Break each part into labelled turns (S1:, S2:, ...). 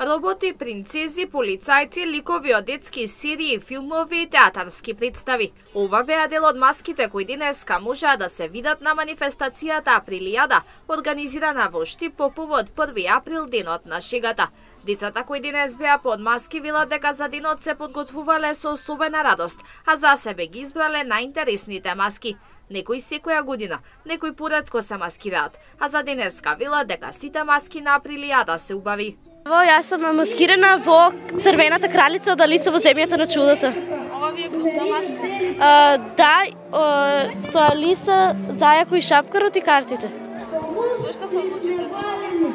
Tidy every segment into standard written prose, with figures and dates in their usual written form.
S1: Роботи, принцези, полицајци, ликови од детски серии, филмови и театарски представи. Ова беа дел од маските кои денеска можеа да се видат на манифестацијата Априлијада, организирана во Штип по повод 1 април, денот на шегата. Децата кои денес беа под маски велат дека за денот се подготвувале со особена радост, а за себе ги избрале најинтересните маски. Некои секоја година, некои поретко се маскираат, а за денеска велат дека сите маски на Априлијада се убави.
S2: Јас сум маскирана во Црвената кралица од Алиса во земјата на чудото.
S1: Ова ви е групна маска?
S2: Со Алиса, Зајако и Шапкарот и картите.
S1: Зошто се одлучивте за ова?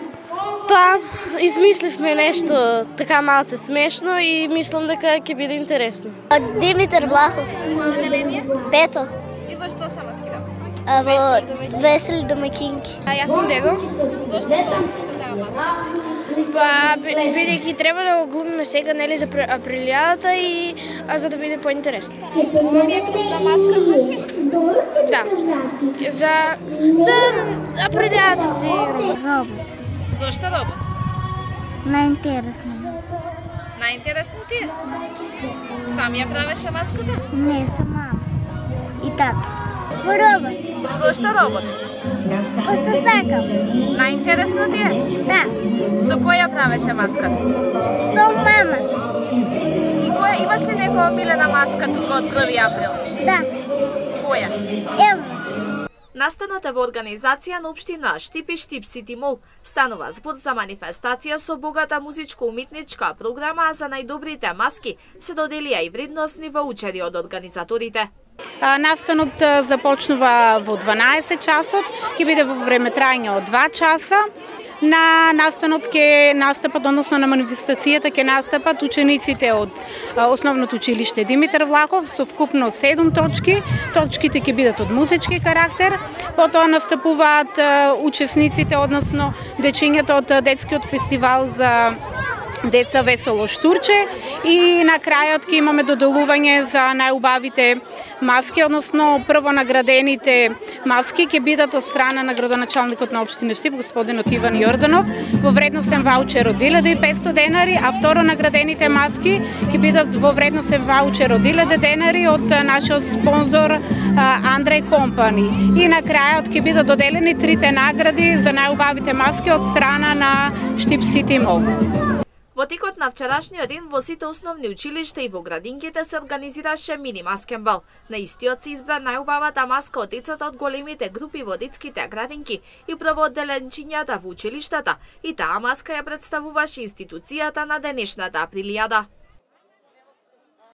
S2: Па, измисливме нешто така малце смешно и мислам дека ќе биде интересно.
S3: Димитар Влахов.
S1: Кој одделение?
S3: Пето.
S1: И во што се маскиравте?
S3: Во Весели домаќинки.
S4: Јас сум Дедо.
S1: Зошто се одлучи за таа маска?
S4: Па, бидејќи треба да го глумиме сега, нели, за Априлијадата и за да биде поинтересно.
S1: Ова ви е групна маска, значи?
S4: Да. За Априлијадата си
S3: Робот.
S1: Зошто робот?
S3: Најинтересно.
S1: Најинтересно ти е? Сам ја правеше маската?
S3: Не, со мама. И тато. Робот.
S1: Зошто робот?
S3: Пошто сакам.
S1: Најинтересно ти е?
S3: Да.
S1: Со кој ја правеше маската?
S3: Со мама.
S1: И која имаш ли некоја омилена маска тука од 1 април?
S3: Да.
S1: Која?
S3: Ево.
S1: Настанот е во организација на општина Штип и Штип Сити Мол. Станува збор за манифестација со богата музичко-умитничка програма, а за најдобрите маски се доделија и вредносни ваучери од организаторите.
S5: Настанот започнува во 12 часот, ќе биде во време трајање од 2 часа. На настанот ќе настапат, односно на манифестацијата ќе настапат учениците од Основното училиште Димитар Влахов со вкупно 7 точки. Точките ќе бидат од музички карактер. Потоа настапуваат учесниците, односно дечињата од детскиот фестивал за деца Весело Штурче и на крајот ќе имаме доделување за најубавите маски, односно прво наградените маски ќе бидат од страна на градоначалникот на општина Штип, господинот Иван Јорданов, во вредносен ваучер од 1500 денари, а второ наградените маски ќе бидат во вредносен ваучер од 1000 денари од нашиот спонзор Андреј Компани. И на крајот ќе бидат доделени 3 награди за најубавите маски од страна на Штип Сити Мол.
S1: Во текот на вчерашниот ден во сите основни училишта и во градинките се организираше мини маскен бал. На истиот се избра најубавата маска од децата од големите групи во детските градинки и првоодделенчињата во училиштата, и таа маска ја представуваше институцијата на денешната Априлијада.